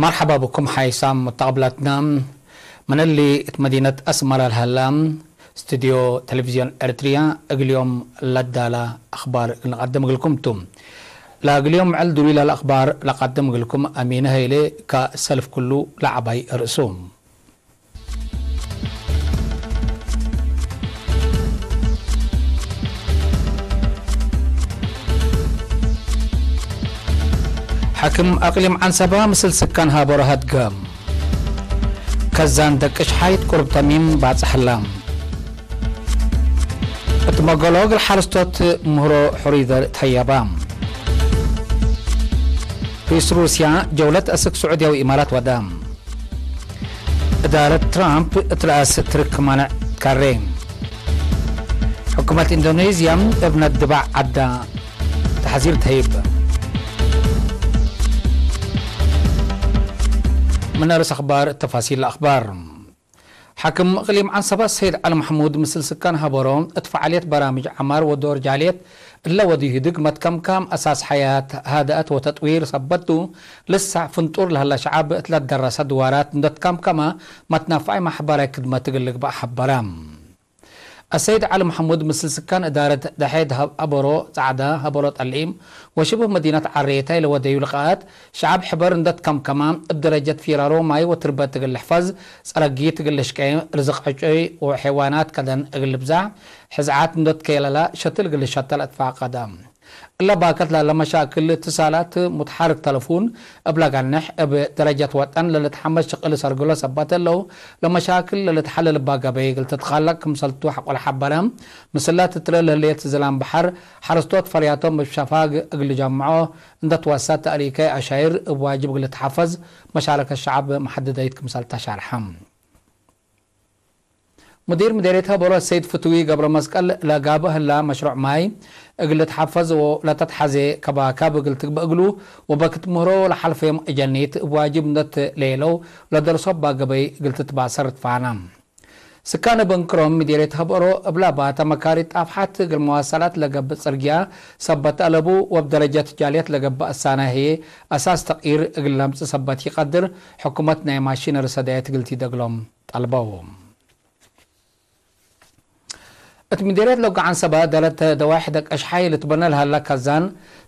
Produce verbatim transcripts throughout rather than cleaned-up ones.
መርሐባ ብኩም ሓይሳም ሙተቀብላትና። ምን እሊ እት መዲነት አስመረ ለሀላ ስቱድዮ ቴሌቪዝዮን ኤረትርያ እግል ዮም ለዳላ አኽባር እግል ንቀድም እግልኩም ቱ። ለእግል ዮም ዕል ዱሉይ ለለአኽባር ለቀድም እግልኩም አሚነ ሀይሌ ከሰልፍ ኩሉ ለዐባይ ርእሱ። ሐክም አቅሊም ዐንሰበ ምስል ስካን ሀበሮ ሀድገ። ከዛን ደቅሽ ሓይት ቁርብ ተሚም ባጽሐላ። እት መገሎ እግል ሐረስቶት ምህሮ ሕሩይ ዘር ተሀየባ። ርኢስ ሩስያ ጀውለት አስክ ስዑድያ ወኢማራት ወደ። እዳረት ትራምፕ እት ረአስ ትርክ ማንዕ ካሬ። ሕኩመት ኢንዶኔዝያ እብ ነድባዕ ዐዳ ተሕዚር ተህይብ። ምን ርእስ አኽባር ተፋሲል አኽባር። ሓክም እቅሊም ዐንሰበ ሰይድ ዐሊ መሕሙድ ምስል ስካን ሀበሮ፣ እት ፈዓልየት በራምጅ ዐማር ወዶር ጃልየት እለ ወድዩ ህድግ መትከምካም አሳስ ሐያት ሃድአት ወተጥዊር ሰበት ቱ፣ ልሳዕ ፍንጡር ለህለ ሸዐብ እት ለትደረሰ ድዋራት እንዶ ትከምከመ መትነፋይ ማሕበራይ ክድመት እግል ልግበእ ሐበረ። አሰይድ ዐሊ መሐሙድ ምስል ስካን እዳረት ደሐ ደሀብ ሀበሮ ጸዕዳ፣ ሀበሮ ጠሊም ወሽብህ መዲነት ዐሬታይ ለወደዩ ልቃአት፣ ሸዐብ ሕበር እንዶ ትከምከመ፣ እብ ደረጀት ፊራሮ ማይ ወትርበት እግል ልሕፈዝ፣ ጸረጊት እግል ልሽቄ፣ ርዝቅ ዕጩይ ወሐይዋናት ከደን እግል ልብዛሕ፣ ሕዝዓት እንዶ ትከየለለ፣ ሸትል እግል ልሸተል አትፋቀደ። እለ ባከት ላለ መሻክል እትሳላት ሙትሐርክ ተለፉን እብ ለገንሕ፣ እብ ደረጀት ወጠን ለልትሐመስ ሽቅል ሰርግሎ ሰበት እለው፣ ለመሻክል ለልትሐለል እባ ገበይ እግል ትትከለቅ ክምሰልቱ ሐቆል ሐበረ። ምስለ ትትረ ለህሌት ዝላም በሐር፣ ሐረስቶት ፈርያቶም እብ ሸፋግ እግል ልጀምዖ እንደ ትወሰድ ተእሊከይ አሻይር እብ ዋጅብ እግል ልትሐፈዝ መሻረከት ሸዐብ መሐደደይት ክምሰል ተሻርሐ። ሙዲር ምዴርየት ሀበሮ ሰይድ ፍትዊ ገብረመስቀል፣ ለጋብእ ህላ መሽሩዕ ማይ እግል ልትሐፈዝ ወለተትሐዜ ከባካብ እግል ትግበእ እግሉ፣ ወበክት ምህሮ ለሐልፈዮም እጀኒት እብ ዋጅብ እንደ ትሌለው ለደርሶ እባ ገበይ እግል ትትባሰር ትፋና። ስካን እብ እንክሮም ምዴርየት ሀበሮ፣ እብ ለባተ መካሪት ጣፍሓት እግል መዋሰላት ለገብእ ጽርግያ ሰበት አለቡ፣ ወእብ ደረጀት ጃልየት ለገብእ አሳናይ ህዬ አሳስ ተቅይር እግል ለምጽእ ሰበት ኢቀድር፣ ሕኩመት ናይ ማሺነሪ ሰዳየት እግል ቲደግሎም ጠልበው። እት ምዴርየት ሎጎ ዐንሰበ ደረት ደዋይሕ ደቀሽሓይ ልትበነ ለሀላ ካዛን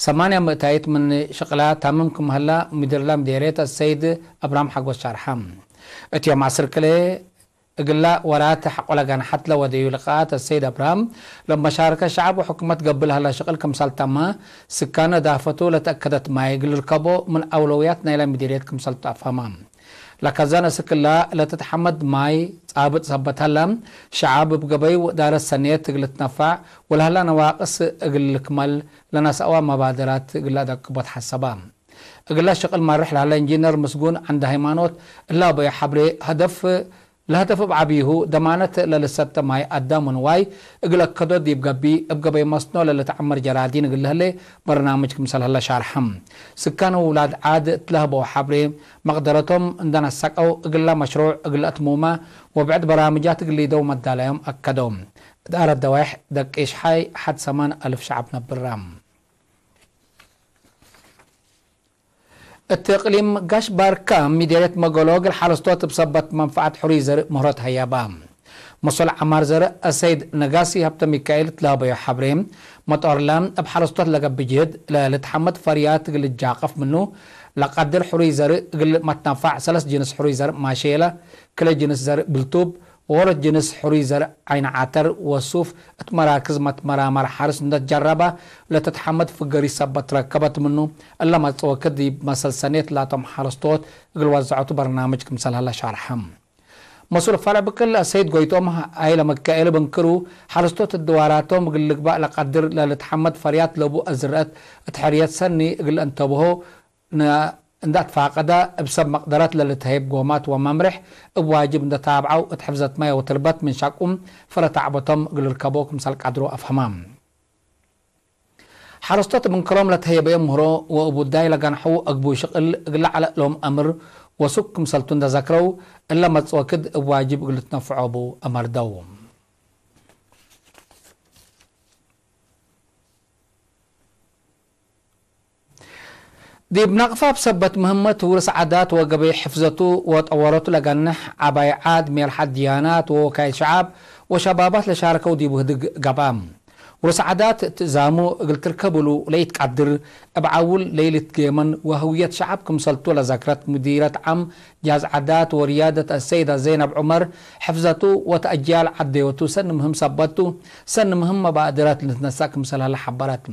ሰማንያ ምእታይት ምን ሽቅላ ታምም ክም ሀላ ሙዲርላ ምዴርየት አሰይድ አብርሃም ሓጎስ ሻርሐ። እት ዮም ዐስር ክልኤ እግላ ወራት ሐቆ ለገንሐት ለወደዩ ልቃአት አሰይድ አብርሃም፣ ለመሻረከት ሸዐብ ወሕኩመት ገብእ ለሀላ ሽቅል ክምሰል ተመ፣ ስካነ እዳፈቱ ለተአከደት ማይ እግል ልርከቦ ምን አውለውያት ናይላ ምዴርየት ክምሰልቱ አፍሀመ። ለካዛን አስክ እላ ለትትሐመድ ማይ ጻብጥ ሰበት ሀላ፣ ሸዐብ እብ ገበዩ ወእዳረት ሰኔት እግል ልትነፈዕ ወለሀላ ነዋቅስ እግል ልክመል ለነስአወ መባደራት እግል ለአደቅቦ ተሐሰበ። እግለ ሽቅል ማርሕ ለሀለ ኢንጂነር ምስጉን ዐንደሃይማኖት እለ አበዩ ሐብሬ፣ ሀደፍ፣ ለሀደፍ እብ ዐቢሁ ደማነት ለልሰተ ማይ አዳም ወንዋይ እግል አከዶ ዲብ ገቢይ፣ እብ ገበይ መስኖ ለልትዐመር ጀራዲን እግል ለህሌ በርናምጅ ክምሰል ሀለ ሻርሐ። ስካን ወውላድ ዓድ እት ለሀበው ሐብሬ፣ መቅደረቶም እንደ ነሰቀው እግለ መሽሩዕ እግል አትሙመ ወብዕድ በራምጃት እግል ሊደው መዳላዮም አከደው። እዳረት ደዋይሕ ደቂሽ ሐይ ሐድ ሰማን አልፍ ሸዐብ ነብረ። እት እቅሊም ጋሽ ባርካ ምዴርየት መገሎ እግል ሐረስቶት እብ ሰበት መንፈዐት ሕሩይ ዘርእ ምህሮ ተሀየባ። መሶል ዐማር ዘርእ አሰይድ ነጋሲ ሀብተሚካኤል እት ለሀበዮ ሐብሬ፣ መጦርለ እብ ሐረስቶት ለገብእ ጅህድ ለልትሐመድ ፈርያት እግል ልጃቀፍ ምኑ ለቀድር ሕሩይ ዘርእ እግል መትነፋዕ ሰለስ ጅንስ ሕሩይ ዘርእ ማሼለ፣ ክለ ጅንስ ዘርእ ብልቱብ፣ ወወሮት ጅንስ ሕሩይ ዘርእ ዓይን ዐተር ወሱፍ እት መራክዝ መትመራመር ሐርስ እንደ ትጀረበ ለትትሐመድ ፍገሪት ሰበት ትረከበት ምኑ፣ እለ መጽእ ወክድ ዲብ መሰል ሰኔት ላቶም ሐረስቶት እግል ወዘዐቱ በርናምጅ ክምሰል ሀለ ሻርሐ። መሱል ፈርዕ ብቅል ሰይድ ጎይቶም ሀይለ መካኤል እብ እንክሩ፣ ሐረስቶት እድዋራቶም እግል ልግባእ ለቀድር ለልትሐመድ ፈርያት ለቡ አዝረአት እት ሕርየት ሰኒ እግል አንተብሆ፣ ነ-፣ እንደ አትፋቀደ፣ እብ ሰብ መቅደረት ለልትሀይብ ጎማት ወመምሬሕ እብ ዋጅብ እንደ ታብዐው፣ እት ሕፍዘት ማይ ወትርበት ምን ሸቁም ፍረ ተዕበቶም እግል ልርከቦ ክምሰል ቀድሮ አፍሀመ። ሐረስቶት እብ እንክሮም ለተሀየበየ ምህሮ ወእብ ውዳይ ለገንሐው አግቡይ ሽቅል እግለ ዐለ እሎም አምር ወሱክ ክምሰልቱ እንደ ዘክረው፣ እለ መጽእ ወክድ እብ ዋጅብ እግል ልትነፍዖ ቡ አመርደው። ዲብ ናቅፋ እብ ሰበት ምህመት ውርስ ዓዳት ወገበይ ሕፍዘቱ ወጠወረቱ ለገንሕ ዐባይ ዓድ፣ ሜልሓት ድያናት ወወካይል ሸዓብ ወሸባባት ለሻረከው ዲቡ ህድግ ገብአ። ውርስ ዓዳት ትእዛሙ እግል ትርከብ እሉ ለኢትቀድር፣ እብ ዐውል ለኢልትጌመን ወህውየት ሸዓብ ክምሰልቱ ለዘክረት ሙዲረት ዓም ጃዝ ዓዳት ወርያደት አሰይዳ ዘይነብ ዑመር፣ ሕፍዘቱ ወተአጅያል ዐደዮቱ ሰኒ ምህም ሰበት ቱ፣ ሰኒ ምህም መባእድረት ልትነሰእ ክምሰል ሀለ ሐበረት።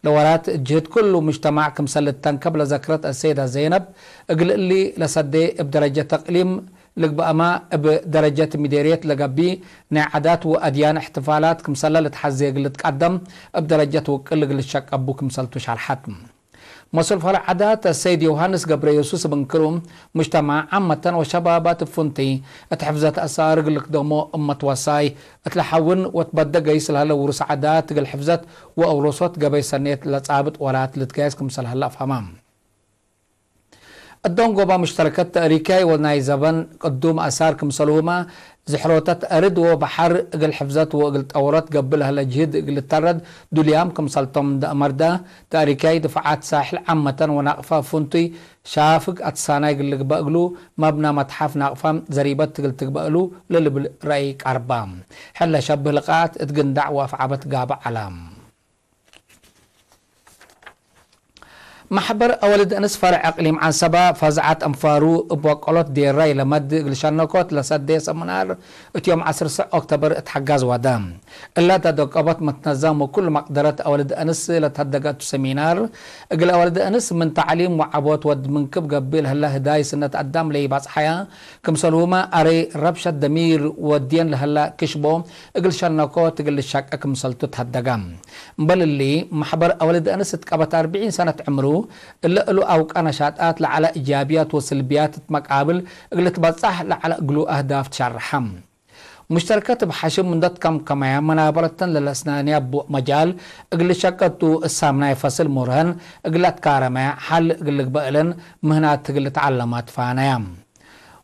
ለወራት ጅህድ ኩሉ ሙጅተማዕ ክምሰል ልተንከብ ለዘክረት አሰይዳ ዘይነብ፣ እግል እሊ ለሰዴ እብ ደረጀት እቅሊም ልግበእመ፣ እብ ደረጀት ሚዴርየት ለገብእ ናይ ዓዳት ወአድያን እሕትፋላት ክምሰለ ልትሐዜ እግል ልትቀደም እብ ደረጀት ውቅል እግል ልሸቀቡ ክምሰልቱ ሸርሐት። መስል ፈረዕ ዓዳት አሰይድ ዮሃንስ ገብረየሱስ እብ እንክሩ፣ ሙጅተማዕ ዓመተን ወሸባባት እብ ፍንቱይ እት ሕፍዘት አሳር እግል ልክደሞ እመት ወሳይ እት ለሐውን ወትበደ ገይስ ለሀለ ውሩስ ዓዳት እግል ሕፍዘት ወአውሮሶት ገበይ ሰኔት ለጻብጥ ወራት ልትገያስ ክምሰል ሀለ አፍሀመ። እዶንጎባ ሙሽተረከት ተእሪካይ ወናይ ዘበን ቅዱም አሳር ክምሰልሁመ፣ ዝሕሮተት አርድ ወበሐር እግል ሕፍዘት ወእግል ጠወረት ገብእ ለህለ ጅህድ እግል ልተረድ ዱልያም ክምሰልቶም እንደ አመርደ፣ ተእሪካይ ድፍዓት ሳሕል ዓመተን ወናቅፋ ፍንቱይ ሻፍግ አትሳናይ እግል ልግበእ እግሉ፣ መብነ መትሐፍ ናቅፋ ዘሪበት እግል ትግበእ እሉ ለልብል ረአይ ቀርባ። ሕለ ሸብህ ልቃት እት ግንዳዕ ወአፍዓበት ጋብእ ዐለ። መሕበር አወልድ እንስ ፈርዕ እቅሊም ዐንሰበ፣ ፈዝዐት አንፋሩ እብ ወቀሎት ዴራይ ለመድ እግል ሸነኮት ለሰዴ ሰምናር እት ዮም ዐስር ስዕ ኦክቶበር እት ሐጋዝ ወደ። እለ ተደቀቦት መትነዛም ወኩሉ መቅደረት አወልድ እንስ ለተሀደገ እቱ ሰሚናር፣ እግል አወልድ እንስ ምን ተዕሊም ወዐቦት ወድ ምንክብ ገብእ ለህለ ህዳይ ስነት አዳም ለኢባጽሐያ፣ ክምሰልሁመ አረይ ረብሸት ደሚር ወድየን ለህለ ክሽቦ እግል ሸነኮት እግል ልሸቄ ክምሰልቱ ተሀደገ። እምበል እሊ፣ መሕበር አወልድ አንስ እት ቀበት አርብዒን ሰነት ዕምሩ፣ እለ እሉ አውቀ ነሻጣት ለዐለ እጃብያት ወስልብያት እት መቃብል እግል ልትበጸሕ ለዐለ እግሉ አህዳፍ ትሸርሐ። ሙሽተርከት እብ ሐሽም እንደ ትከምከመያ፣ መናበረተን ለለአስናንያ ቡ መጃል እግል ልሸቀቱ እሳም ናይ ፈስል ሙርሀን እግል ለትካረመያ ሐል እግል ልግበእ እለን ምህናት እግል ልትዓለማ ትፋነያ።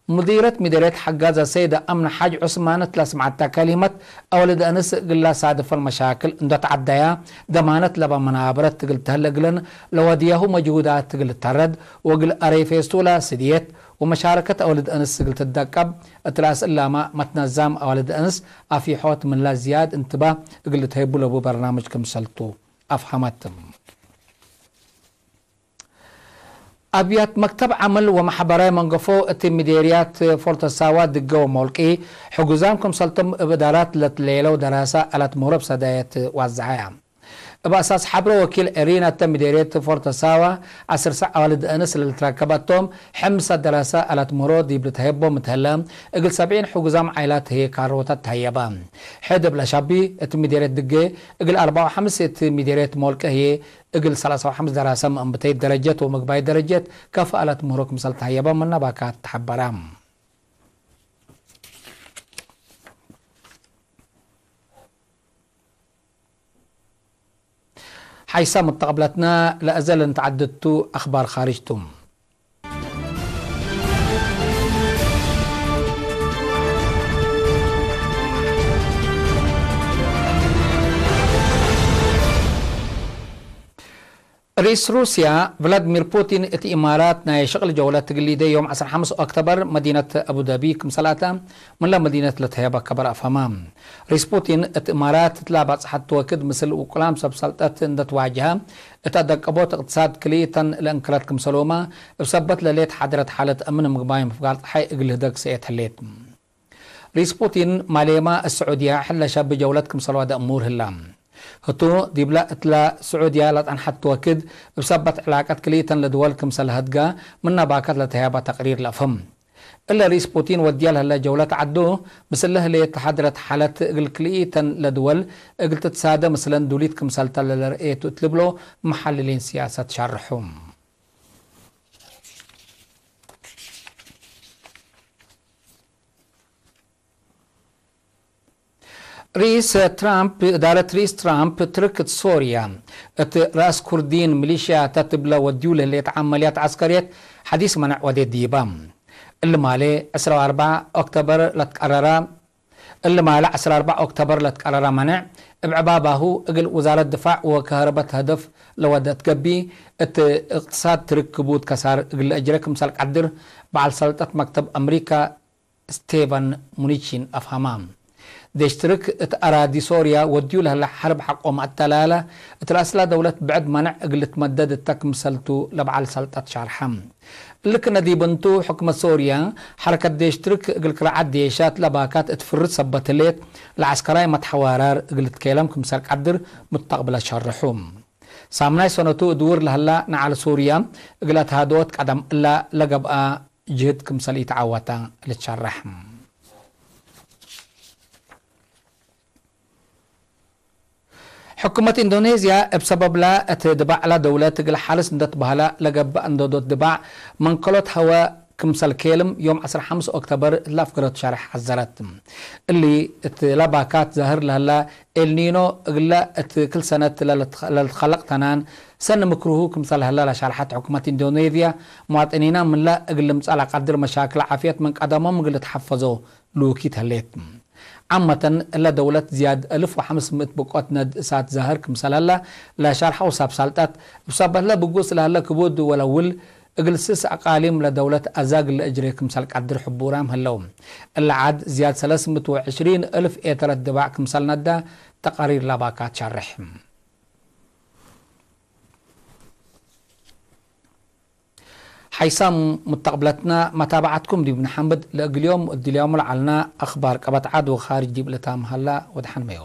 ሙዲረት ሚደርየት ሐጋዘ ሰይደ አምነ ሓጅ ዑስማን እት ለስምዐተ ከሊመት፣ አወልድ አንስ እግል ለሳድፈን መሻክል እንዶ ተዐደያ፣ ደማነት ለበ መናበረት እግል ተህለ እግለን ለወድያሁ መጅሁዳት እግል ልተረድ ወእግል አረይ ፌስቱላ ስድየት ወመሻረከት አወልድ አንስ እግል ትደቀብ፣ እት ለአስእላማ መትነዛም አወልድ አንስ አፊሖት ምንላ ዝያድ እንትባህ እግል ልትሀይቡ ለቡ በርናምጅ ክምሰልቱ አፍሀመት። አብያት መክተብ ዐመል ወመሐበራይ መንገፎ እት ሚዴርያት ፎርተሳዋ ድገ ወሞልቂ፣ ሕጉዛም ክምሰልቶም እብ እዳራት ለትሌለው ደራሰ አላት ምህሮ እብ ሰዳየት ዋዘሐያ። እብ አሳስ ሐብሮ ወኪል ኤሪና እተ ሚዴርየት ፎርተሳዋ፣ ዐስር ሰዕ አዋልድ አንስ ለልትረከበቶም፣ ሕምሰ ደራሰ አላት ምህሮ ዲብ ልትሀየቦ ምትሀለ፣ እግል ሰብዒን ሕጉዛም ዓይላት ህዬ ካሮታት ተሀየባ። ሕድ እብ ለሻቢ እት ሚዴርየት ድጌ፣ እግል አርበዕ ወሐምስ እት ሚዴርየት ሞልቂ ህዬ፣ እግል ሰላሳ ወሐምስ ደራሰ መእንብተይት ደረጀት ወምግባይት ደረጀት ከፍአለት ምህሮ ክምሰል ተሀየበ ምነ ባካት ተሐበረ። ሐይሰ መተቀብለትነ ለአዘ ለንትዐደድ ቱ አክባር ካርጅ ቱ። ርኢስ ሩስያ ቭላድሚር ፑቲን እት ኢማራት ናይ ሸቅል ጀውለት እግል ሊደ ዮም ዐስር ሐምስ ኦክቶበር መዲነት አቡደቢ ክምሰል አተ ምንለ መዲነት ለተሀየበ ከበር አፍሀመ። ርኢስ ፑቲን እት ኢማራት እትለ ባጽሐት ወክድ ምስል ውቁላም ሰብ ሰልጠት እንደ ትዋጀሀ እት አደቀቦት እቅትሳድ ክልኢተን ለእንክረት ክምሰልሁመ እብ ሰበት ለሌት ሓድረት ሓለት አምን ምግባይ ምፍጋር ጸሓይ እግል ልህደግ ሰኤት ህሌት። ርኢስ ፑቲን ማሌማ እት ስዑድያ ሕለ ሸብ ጀውለት ክምሰል ወደ እሙር ህላ። ህቱ ዲብለ እትለ ስዑድያ ለጸንሐት ወክድ እብ ሰበት ዕላቀት ክልኢተን ለድወል ክምሰል ለሀድጋ ምነ ባከት ለተህያባ ተቅሪር ለአፍህም። እለ ርኢስ ፑቲን ወድየ ለህለ ጀውለት ዐዱ፣ ምስለ ህሌት ተሐድረት ሓለት እግል ክልኢተን ለድወል እግል ትትሳደ ምስለን ዱሊት ክምሰልተ ለለርኤቱ እት ልብሎ መሐልሊን ስያሰት ሸርሑ። ርኢስ ትራምፕ፣ እዳረት ርኢስ ትራምፕ ትርክ እት ሶርያ እት ረአስ ኩርዲን ሚሊሽያታት እብለ ወድዩ ለህሌት ዐመልያት ዐስከርየት ሐዲስ መነዕ ወዴት ዲበ። እሊ ማሌ ዕስራ ወአርበዕ ኦክቶበር ለትቀረረ፣ እሊ ማሌ ዕስራ ወአርበዕ ኦክቶበር ለትቀረረ መነዕ እብ ዕባባሁ፣ እግል ውዛረት ድፋዕ ወከህረበት ሀደፍ ለወደት ገቢ፣ እት እቅትሳድ ትርክ ክቡድ ከሳር እግል ለአጅረ ክምሰል ቀድር፣ በዐል ሰልጠት መክተብ አምሪካ ስቴቨን ሙኒቺን አፍሀማ። ዴሽ ትርክ እት አራዲ ሶርያ ወድዩ ለህለ ሐርብ ሐቆ መአተላለ፣ እት ረአስላ ደውለት ብዕድ መነዕ እግል ልትመደድ እተ ክምሰልቱ ለበዐል ሰልጠት ሻርሐ። እሊ ክነ ዲብ እንቱ፣ ሕክመት ሶርያ፣ ሐረከት ዴሽ ትርክ እግል ክርዓት ዴሻት ለባካት እት ፍርድ ሰበት ህሌት፣ ለዐስከራይ መትሐዋራር እግል ልትኬለም ክምሰል ቀድር ሙስተቅብለት ሸርሑ። ሳምናይ ሰነቱ እድውር ለህላ ነዓል ሱርያ እግለ ተሃድኦት ቀደም እላ ለገብአ ጅህድ ክምሰል ኢተዓወተ ልትሸረሕ። ሕኩመት ኢንዶኔዝያ እብ ሰበብላ እት ድባዕላ ደውለት እግል ሐልስ እንደ ትበህላ ለገብአ እንዶዶት ድባዕ መንከሎት ሀወ ክምሰል ኬልም ዮም ዐስር ሐምስ ኦክተበር እት ለአፍገረቱ ሸርሕ ሐዘረት። እሊ እት ለባካት ዛህር ለህላ ኤልኒኖ እግለ እት ክል ሰነት ለልትከ-፣ ለልትከለቅ ተናን ሰኒ ምክሩሁ ክምሰል ህለ ለሸርሐት ሕኩመት ኢንዶኔዝያ፣ መዋጥኒና ምንለ እግል ልምጸእ ለቀድር መሻክል ዓፍየት ምን ቀደሞም እግል ልትሐፈዞ ልውኪት ህሌት። ዓመተን እለ ደውለት ዝያድ አልፍ ወሐምስ ምእት ብቆት ነድ እሳት ዛህር ክምሰል ህለ ለሸርሐው ሳብ ሳልጠት፣ እብ ሰበት ህለ ብጉስ ለህለ ክቡድ ወለውል እግል ስስ አቃሊም ለደውለት አዛግ ለእጅሬ ክምሰል ቀድር ሕቡራም ህለው። እለ ዐድ ዝያድ ሰለስ ምእት ወዕሽሪን እልፍ ኤተረት ድባዕ ክምሰል ነዳ ተቃሪር ለባካት ሸርሕ። ሓይሳም ሙተቅብለትና መታብዐትኩም ዲብ ንሐምድ፣ ለእግል ዮም እድልያሙ ለዐልና አኽባር ቀበት ዐድ ወኻርጅ ዲብ ልታም ሀላ ወደሐንመዮ።